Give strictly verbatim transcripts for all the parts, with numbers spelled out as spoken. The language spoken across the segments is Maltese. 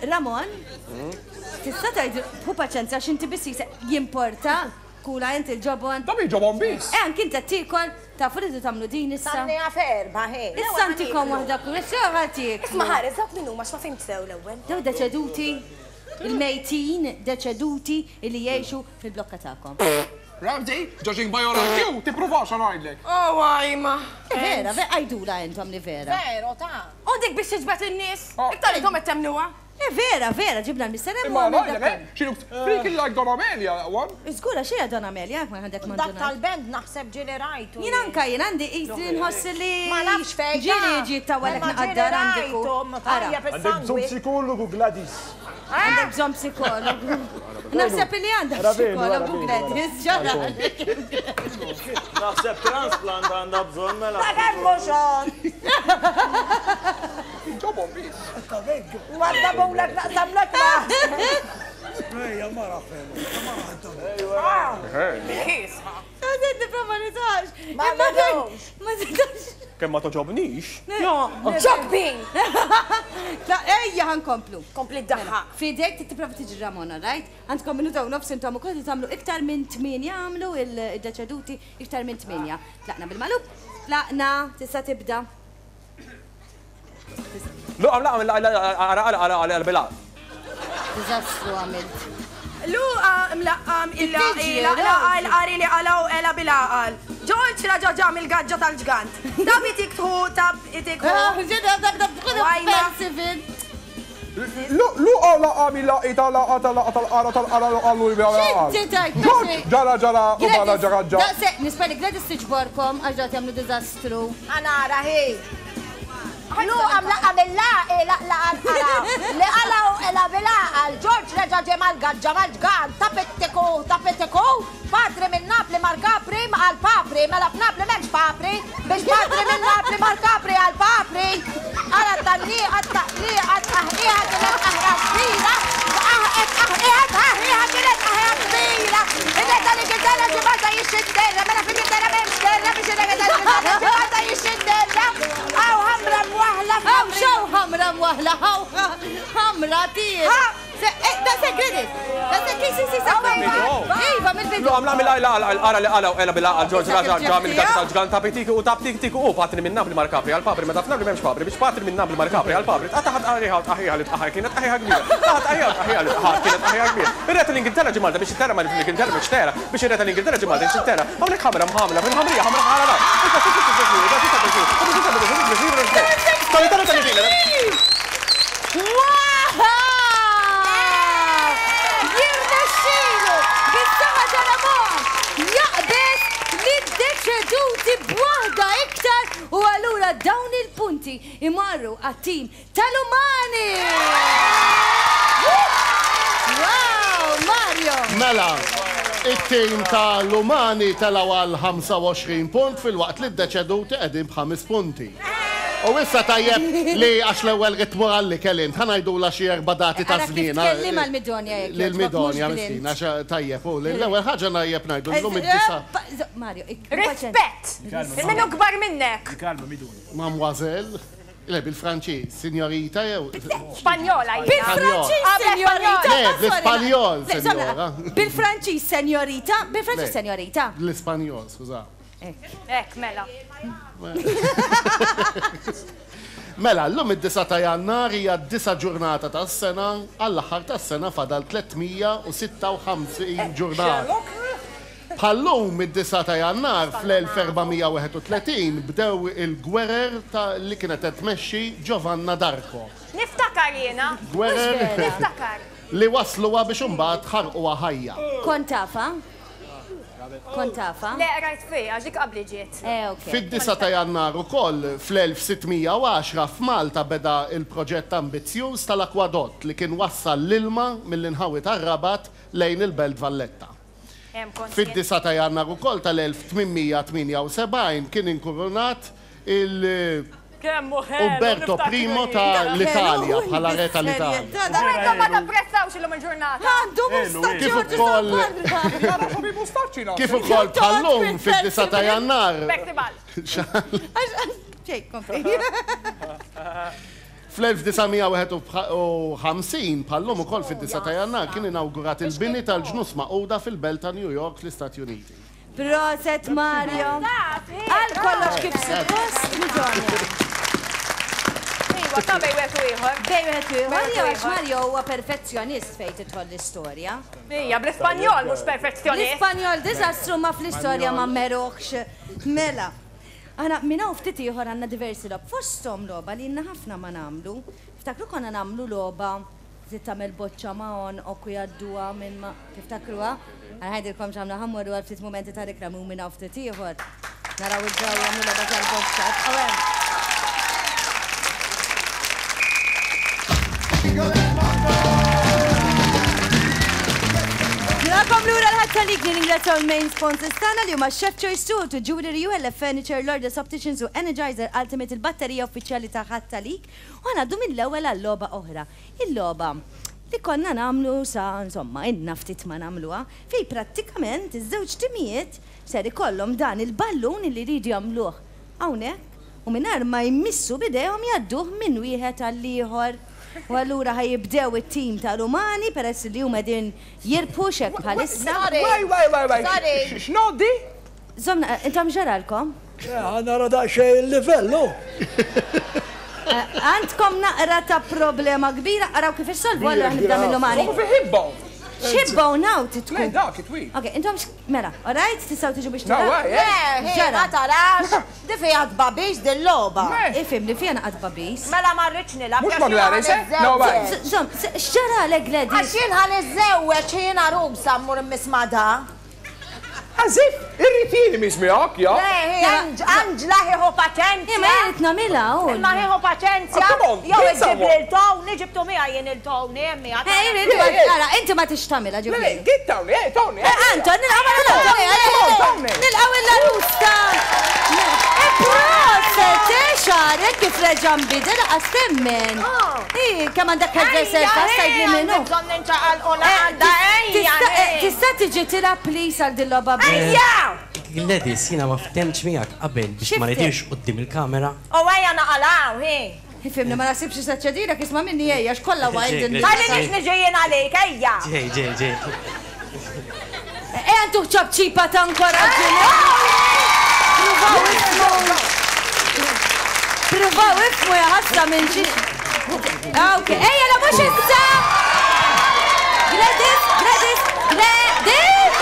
Ramon, tista' tgħid hu paċenzja għax inti biss jisek jimporta kula int il-ġobon. Ta' min ġobon biss? Eh, anki inti qed tiekol, tafu li tagħmlu din issa. Sanni ferba, ħej. Issa ntikom waħda kull, issa ħatik. Isma' ħares, dawk min huma x'ma fimt sew l-ewwel. Daw deċeduti, il-mejtin deċeduti illi jgħixu fil-blokka tagħkom. Ramsey, judging by your I Q, tippruvax ngħidlek. Oh, għajma. Vera, vera, għajdula intom li vera. Vero, ta' U dik biex tiġbed in-nies, Oh. iktar intom qed temnuha. Eh, vera, vera, ġibna l-mister Imma ngħidlek, eh, she looks freaking like Don Amelia, that one. Żgura xejn Don Amelia, ma għandek Dak manduna. tal-band naħseb ġieli rajtu. Jien anka jien għandi qisni nħoss li. Ma nafx fejn. Ġieli ġi tawalek naqaddar għandek. u- Ara, Tajjeb Għandek bżonn is-sangwi. psikologu, Gladys. għandek bżonn psikologu. Naħseb li għandek Ravenu, psikologu ravenu, Gladys, ġara. Naħseb transplant għandha bżonn mela. Ta' kemm mhux on. Ġobon biss. Wadda bowlek naqsamlek ma. Ejja, mara fema. Kisha. Għadin niprofa nitax. Ma nidux. Ma nitax. Kemm ma toġobnix? Ġobbin! La, ejja ħankomplu. Kompli d-daħħa. Fidejk tipprova tiġi Ramona, right? Għandkom minuta u nofs intom ukoll tagħmlu iktar minn tmienja għamlu il-deċeduti iktar minn tmienja. Tlaqna bil-malub, tlaqna, tista' tibda. Luqa mlaqa ara ara ara ara bila. Diżastru għamilt. Luqa mlaqqam illa Tiġi, ila laqa l-qari li qalaw ela bil-għaqal. Ġorġ raġa ġam il-gaġġa tal-ġgant. Tab itik tħu, tab itik ħu. Wajma. Luqa laqa mila ita laqa tal-laqa tal-qara tal-qara l-qallu X'inti tajt, Ġorġ, ġara ġara u bala ġara ġara. Daqse, nispera Gladys tiġborkom għax dat jagħmlu diżastru. Għanara, ħej. Luqa mlaqa mill-laqi, laqlaqa l-qara. Li qalaw ela bil-għaqal. Ġorġ reġa' ġie mal-gaġġa mal-ġgant. Tapittiku, tapittiku. Padri minn Napli mar Capri għal papri. Mela f'Napli m'hemmx papri. Biex padri minn Napli mar Capri għal papri. Għala t-tanniqa, t-taqliqa, t-taħqiqa kienet aħra kbira. Aħqet, aħqiqa, taħqiqa kienet aħra kbira. Ir-re tal-Ingilterra ġie Malta jixxinterra. Mela fl-Ingilterra m'hemmx terra biex ir-re tal-Ingilterra ġie Malta jixxinterra. Aw ħamra mwaħla Aw, xaw ħamra mwaħla, aw ħamra tir. Ha! Da se Gladys, da se kisi si sa Iva, mill-bidu. Luqa mlaqa mila ila ara li qalaw ela bil-għaqal. Ġorġ raġa ġam il-gaġġa tal-ġgant. Tapitiki u taptik u patri minn Napli mar Capri għal papri. Meta f'Napli m'hemmx papri biex patri minn Napli mar Capri għal papri. Taħat qariħa u tqaħiha li tqaħar kienet tqaħiha kbira. Taħat qariħa u tqaħiha li tqaħar kienet tqaħiha kbira. Ir-re tal-Ingilterra ġie Malta biex it-terra ma fl-Ingilterra biex tera biex ir-re tal-Ingilterra ġie Malta biex it-terra. Hawnhekk ħamra mħamla fil-ħamrija ħamra ħarara. Wow! Jirnexxielu bis-saħħa ta' Ramon jaqbeż lid-deċeduti b'waħda iktar u allura dawn il-punti imorru għat-tim tal-Umani! Wow, Mario! Mela, it-tim tal-Umani telaw għal ħamsa u għoxrin punt fil-waqt li d-deċeduti qegħdin b'ħames punti. U issa tajjeb li għax l-ewwel ritmu għalli kellint, ħa ngħidula xi erba' dati ta' Ara kif żmien. tkellim għal-Midonja jekk Lil jogħġbok, Midonja, mhux miskina, Glint. għax tajjeb, u l-ewwel ħaġa najjeb ngħidu llum id-disa. Mario, ik- Rispett! Il-minu kbar minnek. Kalma, Midonja. Mademoiselle, le bil-Franċiż, signorita jew. Spanjola jiena. Bil-Franċiż, Ah, senjorita! Le, bl-Ispanjol, Le, sorry, senjora. Bil-Franċiż, senjorita, bil-Franċiż, Le. senjorita. L-Ispanjol, skuża. Ek, mela. Mela, llum id-disa ta' Jannar hija d-disa ġurnata tas-sena, għall-aħħar tas-sena fadal tliet mija u sitta u ħamsin ġurnata. Bħallum id-disa ta' Jannar fl-elf erba' mija u wieħed u tletin bdew il-gwerer ta' li kienet qed tmexxi Giovanna d'Arco. Niftakar jiena. Gwerer Niftakar. li wasluha biex imbagħad ħarquha ħajja. Kont tafa? Kont tafa? Le, rajt fija, għax dik qabli ġiet. Eh, ok. Fid-disa ta' Jannar ukoll fl-elf sitt mija u għaxra f'Malta beda il-proġett ambizzjuż tal-akwadott li kien wassal l-ilma mill-inħawi tar-Rabat lejn il-Belt Valletta. Hemm kont jien. Fid-disa ta' Jannar ukoll tal-elf tmien mija tmienja u sebgħin kien inkurunat il- Kemm hu ħelu, Umberto niftakru Primo jien. ta' l-Italja, Ħelu, bħala re tal-Italja. bis-serjetà, U intom ma tapprezzawx illum il-ġurnata. Għandu mustaċċi, Kif Giorgio ukoll- San Nara xi mustaċċi nagħti. Kif ukoll bħallum fid-disa ta' Jannar. Festival. Ġej, kompli. Fl-elf disa' mija wieħed u ħamsin, bħallum ukoll fid-disa ta' Jannar, kien inawgurat il-bini tal-ġnus Magħquda fil-belt ta' New York fl-Istati Uniti. Proset Mario! Għal kollox kif suppost, Midonja. Iva, ta' bej wieħed u ieħor. Bej wieħed u ieħor. Mario, għax Mario huwa perfezzjonist fejn tidħol l-istorja. Ija, bl-Ispanjol mhux perfezzjonist. L-Ispanjol diżastru ma fl-istorja ma meruħx. Mela. Aħna minn hawn ftit ieħor għandna diversi logħob. Fosthom logħba li ilna ħafna ma nagħmlu. Ftakru konna nagħmlu logħba li tagħmel boċċa ma' għonqok u jgħadduha minn ma' tiftakruha? Għana ħajdilkom x'għamlu, ħa mmorru għal ftit mumenti ta' riklami u minn hawn ftit ieħor. Naraw id-draw jagħmlu logħba tal-boċċa. Ibqgħu hemm. Nilqakom lura l-ħadd tal-lik, nirringrazzjaw il-main sponsors tagħna li huma Chef Choice two, to Jewelry U L F Furniture, Lourdes Opticians u Energizer Ultimate, il-batterija uffiċjali ta' ħadd tal-lik. U ħanaddu mill-ewwel għal-logħba oħra. Il-logħba li konna nagħmlu sa, insomma, inna ftit ma nagħmluha, fej prattikament iż-żewġ timijiet ser ikollhom dan il-ballun li jridu jagħmluh hawnhekk u mingħajr ma jmissu bidejhom jgħadduh minn wieħed għall-ieħor. U allura ħajibdew it-tim tal-Umani peress li huma qegħdin jirbħu xek bħalissa. Waj, waj, waj, waj. Sorry. X'noddi? Zomna, intom ġaralkom? Nara daqsxejn il-livell, hu. Għandkom naqra ta' problema kbira, araw kif issolvu, allura ħnibda mill-Umani. Hu fi ħibba. Xibba u naw titkun. Le, dak it-twil. Ok, intom x-, mela, all right, tistgħu tiġu biex No, taraw? waj, eh. Le, Ġara. ma tarax, di fiha tbabis dil-logħba. Me. Ifhem li fiha naqgħad babis. Mela ma rridx nilgħab. Mhux għax ma jiena Gladys, eh? ħaniżżewweġ. No, waj. Z-, Zom, z-, x'ġara lek, Gladys? Għax jien ħaniżżewweġ, jien għarusa mmur immismada. Għażif, irrid jien mismijak, ja. Le, hi, Anġ-, Anġla ħieħu paċenzja. Imma jien qed nagħmilha, u. Imma ħieħu paċenzja. Oh, come on, Jew get iġib someone. lil Tony, ġibtu miegħi jien il-Tony, hemm miegħek. Eh, jien inti ma Le, le. ara, inti ma tix tagħmilha, Le, le, ġifieri. get Tony, eh, Tony, eh. Eh, Anton, nilqgħu ma Come on, Tony, come on, Tony. Nilqgħu il-larusta. Eh, proset, eh, xarek kif reġa' nbidel, laqas temmen. Oh. Ih, kemm għandek hairdresser Ejja, fast, tgħidli ejja, minnu. għandi bżonn ninċaqal u Eh, naqda, tis-, ejja, tista', eh, ejja. tista' tiġi tilgħab please għal din logħba biss? Ejja! Gladys, jiena ma ftemx miegħek qabel biex ma X'iftem? nidirx quddiem il-kamera. U ejja naqalaw, hi. Ifhimni, ma naħsibx se ċedilek, isma' minni ejja, x'kollha wild in Ġej, Ħalli nix niġi jien għalik, ejja. Ġej, ġej, ġej. Ejja ntuħ ċabċipa ta' inkoraġġiment. Pruvaw ifmu. Pruvaw ifmu ja ħasra minn xi. Ah, ok. Ejja, la mhux issa. Gladys, Gladys, Gladys!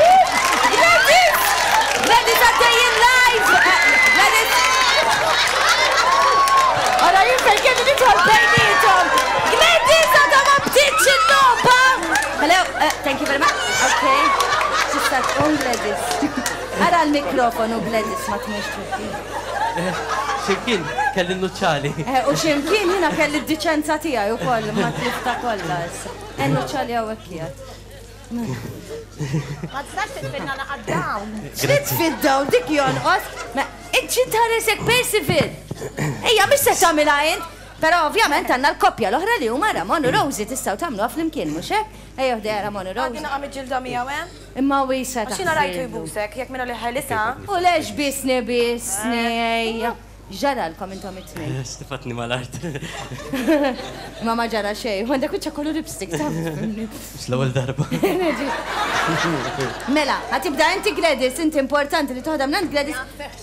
Gladys! Gladys għaddejjin live! Gladys! Ora jien fejn kelli nidħol bejnietom! Gladys għadha ma bdietx il-logħba! Hello, uh, thank you very much. Okay. Tista' tqum Gladys. Ara l-mikrofonu Gladys ma tmurx twitti. Ximkien kelli n-nuċċali. Eh, u ximkien jiena kelli d-diċenza tiegħi wkoll ma tlifta kollha issa. Eh, n-nuċċali hawnhekk qiegħed. Ma tistax titfinna naqgħod dawn. Titfi d-dawn dik jonqos. Ma inti tħaresek Percival. Ejja, mhux se tagħmilha int. Però ovvjament għandna l-koppja l-oħra li huma Ramon u Rosie tistgħu tagħmluha flimkien, mhux hekk? Ejja ħdejha Ramon u Rosie. Għaddi naqa' miġġielda miegħu hemm. Imma wisa Għax jiena rajtu taħsirlu. jbusek, jekk minnu li ħelisa. U lex bisni bisni, ejja. Ġaralkom intom it-tnejn. Stifatni mal-art. Ma ma ġara xejn, u għandek wiċċa kollu lipstick, taf. Mhux l-ewwel darba. Mela, ħatibda inti Gladys, inti importanti li toħdem minn Gladys.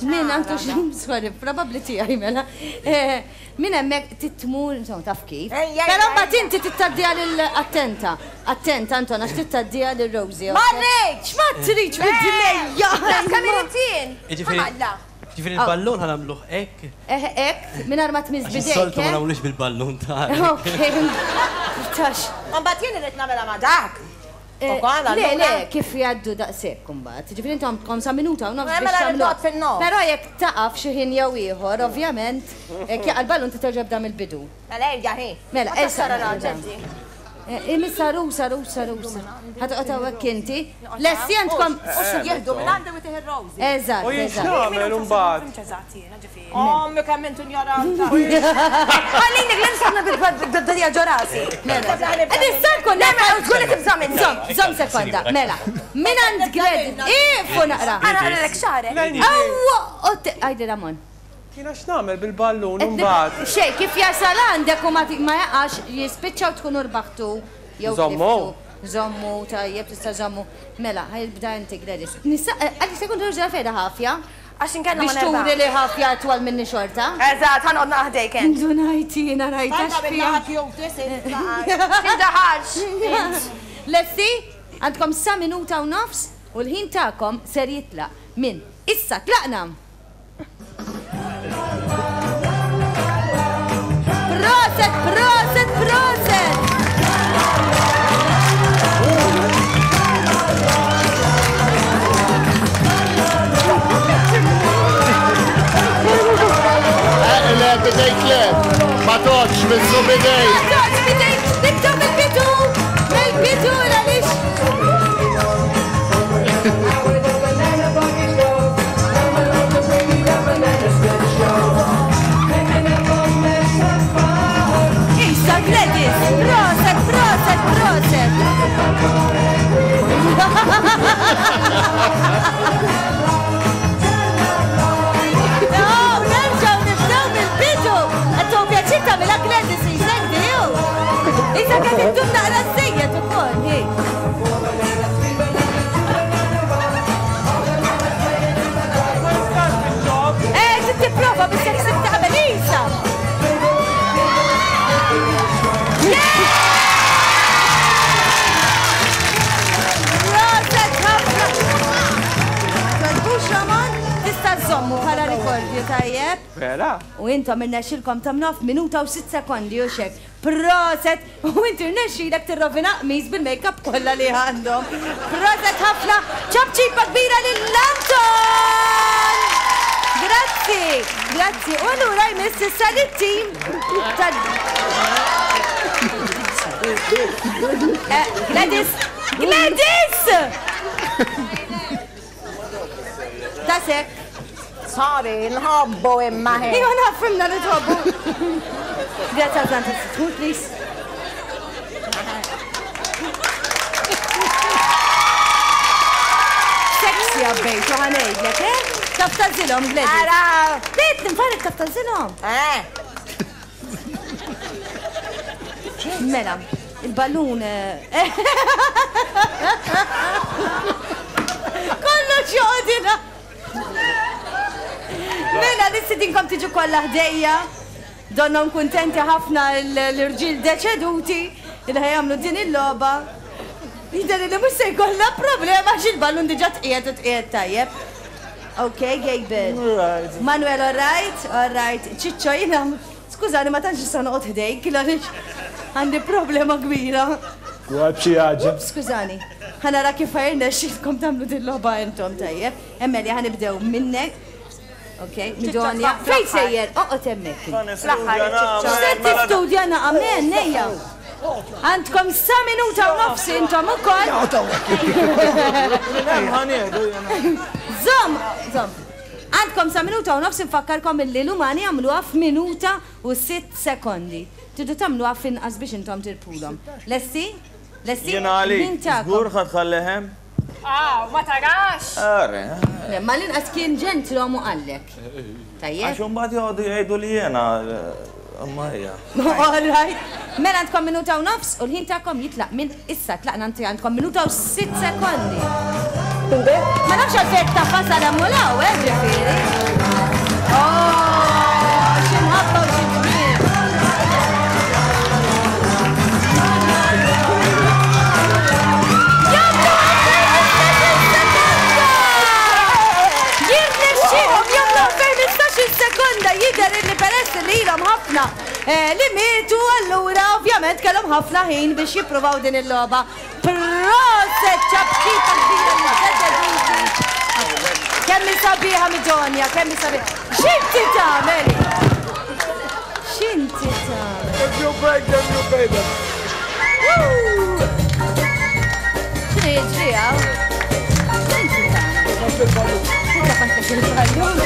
Min għandu xi, sorry, probabbli tiegħi mela. Eh, min hemmhekk titmur, insomma, taf kif. Ejja, ejja, Però mbagħad ejja. inti tittaddiha lil attenta. Attenta Anton, għax tittaddiha lil Rosie. Ma rridx! Ma tridx bid-dnejja! Kemm irid jien? Jiġifieri- Ħalla. Ġifieri il-ballun ħanamluh hekk. Eh, hekk, mingħajr ma tmiss Għax bidejk, is-soltu ma eh? nagħmlux bil-ballun ta' Ok, tax. Mbagħad jien irid nagħmilha ma' dak. Eh, Ukoll, Le, allura. le, kif jgħaddu daqshekk imbagħad. Ġifieri intom għandkom sa minuta u nofs Eh, biex mela tagħmlu. nibgħod fin-nofs. Però jekk taqaf xi ħin jew ieħor, ovvjament, jekk jaqa' l-ballun titerġa' bda mill-bidu. Mela ejja hi. Mela, Ma issa tara naqra. raġel di. Eh, Imissa rusa, rusa, rusa. Ħatoqgħod hawnhekk inti. Lesti għandkom. Jieħdu minn għandi u tieħ ir-Rosie. Eżatt, U jien eżatt. x'nagħmel imbagħad? Ommi kemm intu ignoranta. Ħallini Gladys aħna bil-bdija ġo rasi. Mela, nista' nkun Le, mela, żgur li tibża' minni. Żomm, żomm sekonda. Mela, minn għand Gladys. Ifu naqra. Ara, ara, lek xarek. Awwa, għajdi Ramon. Jiena x'nagħmel bil-ballun imbagħad? Xejn, kif jasal għandek u ma jaqax jispiċċaw tkunu rbaħtu jew Żommu. Żommu, tajjeb tista' żommu. Mela, ħajbda inti Gladys. Nista' għalli se jkun turġa' fejda ħafja. Għax inkella ma Biex turi nerbaħ. li ħafja twal minni xorta. Eżatt, ħa noqgħod naħdejk int. Ndunajt jiena rajta Tajba x'fiha. bil-naħat jew tisit. Tindaħalx. Lesti, għandkom sa minuta u nofs u l-ħin tagħkom ser jitlaq minn issa tlaqna. Proset, proset, proset! Le, bidejk le. Ma toċ, missu bidejk. Ma toċ, bidejk, nibdew mill-bidu, mill-bidu għaliex. Issa Gladys, proset, proset, proset. Oh, nerġgħu nibdew mill-bidu. Qed tieħu pjaċir tagħmilha Gladys isek diju. Issa qed iddum naqra żejjed ukoll, hi. Eh, trid tipprova biex jekk se taqbel Isa. Proset ħafna. Tolbux Ramon, tista' żommu bħala rikordju tajjeb. Vera? U intom irnexxilkom tagħmluha f'minuta u sitt sekondi u xek. Proset! U inti rnexxilek tirrovina qmis bil-make-up kollha li għandhom. Proset ħafna! Ċapċipa kbira lil Anton! Grazzi! Grazzi! U allura jmiss issa lit-tim ta' Eh, Gladys! Gladys! Tasek! Sorry, nħobbu imma ħin. Ijwa nafimna li tħobbu. Grazzi għal Francis, tmur please. Sexy għabbejt, u ħanejdlek, eh? Taf tażilhom, Gladys. Ara! Bejt, nfarik taf tażilhom. Eh, Mela, il-ballun. eh, Kollox joqgħodilha. Mela, nistidinkom tiġu kollha ħdejja. Donnom kuntenti ħafna l-irġiel deċeduti li ħajamlu din il-logħba. Jidher li mhux se jkollna problema għax il-ballun diġà tqiegħed u tqiegħed tajjeb. Ok, Gabriel. Manuel, all right? All right. Ċiċċo, jiena, skużani, ma tantx issa noqgħod ħdejk, għaliex għandi problema kbira. Għab xi ħaġa. Skużani, ħa nara kif ħa jirnexxilkom tagħmlu din logħba intom tajjeb. Emmelia, ħa nibdew minnek. Ok, Midonja. Fejn sejjer? Oqgħod hemmhekk. Fl-aħħar iċ-ċiċċo. Se tistudja naqa' men, nejja. Għandkom sa minuta u nofs intom ukoll. Żomm, żomm. Għandkom sa minuta u nofs infakkarkom illi l-umani għamluha f'minuta u sitt sekondi. Tridu tagħmluha f'inqas biex intom tirpulhom. Lesti? Lesti? Jiena għalik, Min tagħkom? żgur ħa tħallihem? Ah, ma tarax. Are, Le, ma l-inqas kien ġentilhom u qallek. Tajjeb? għax imbagħad joqogħdu jgħidu li jiena imma hija. All right. Mela għandkom minuta u nofs u l-ħin tagħkom jitlaq minn issa tlaqna inti għandkom minuta u sitt sekondi. Ma nafx għalfejn ta' fasal hemm u eh, ġifieri. Oh, xi mħabba u xi ġmiel. Jagħmlu sekonda! Jirnexxielhom jagħmlu fejn sekonda jidher illi peress li ilhom ħafna eh, li mietu allura ovvjament kellhom ħafna ħin biex jippruvaw din il-logħba. Proset ċapċipa kbira li Kemm hi sabiħa Midonja, kemm hi sabiħa. X'inti tagħmel? X'inti tagħmel? If you break them, you pay them. X'inhu jiġri hawn? X'inti tagħmel? Tafas il-ballun.